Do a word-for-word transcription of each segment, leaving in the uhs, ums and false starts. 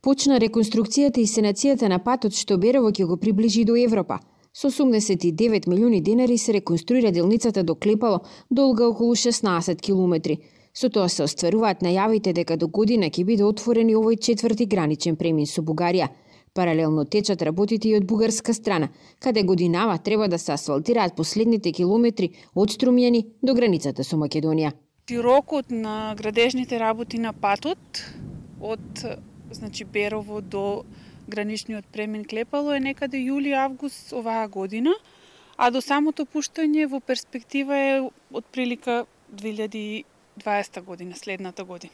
Почна реконструкцијата и санацијата на патот што Берово ќе го приближи до Европа. Со осумдесет и девет милиони денари се реконструира делницата до Клепало, долга околу шеснаесет километри. Со тоа се остваруваат најавите дека до година ќе биде отворен и овој четврти граничен премин со Бугарија. Паралелно течат работите и од бугарска страна, каде годинава треба да се асфалтираат последните километри од Струмјани до границата со Македонија. Рокот на градежните работи на патот од значи Берово до граничниот премин Клепало е некаде јули-август оваа година, а до самото пуштање во перспектива е од прилика две илјади и дваесета година, следната година.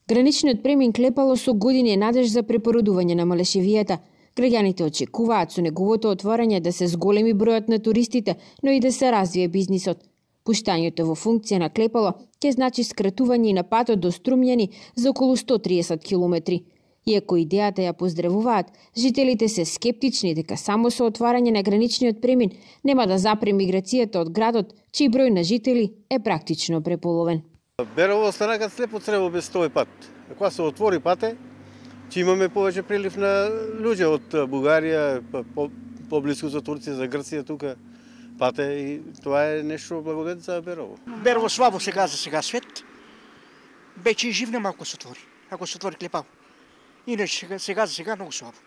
Граничниот премин Клепало со години е надеж за препородување на Малешевијата. Граѓаните очекуваат со неговото отворање да се зголеми бројот на туристите, но и да се развие бизнисот. Пуштањето во функција на Клепало ќе значи скратување на патот до Струмјани за околу сто триесет километри. Иако идејата ја поздравуваат, жителите се скептични дека само со отварање на граничниот премин нема да запре миграцијата од градот, чиј број на жители е практично преполовен. Берово стана кај слепо црево без тој пат. Кога се отвори пате, ќе имаме повеќе прилив на луѓе од Бугарија, поблиску за Турција, за Грција тука. Пате и тоа е нешто благодет за Берово. Берово слабо сега за сега свет. Бече живне малку се отвори, ако се отвори Клепало. Иначе сега за сега многу слабо.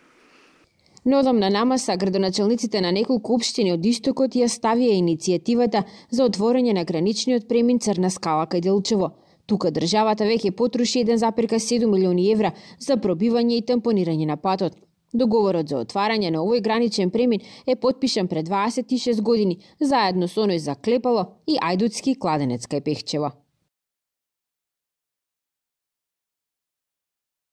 Но одам на намаса, градоначелниците на неколку општини од истокот ја ставија иницијативата за отворање на граничниот премин Црна скала кај Делчево. Тука државата веќе потроши еден зарез седум милиони евра за пробивање и тампонирање на патот. Договорот за отварање на овој граничен премин е потпишан пред дваесет и шест години, заедно со оној за Клепало и Ајдутски кладенец кај Пехчево.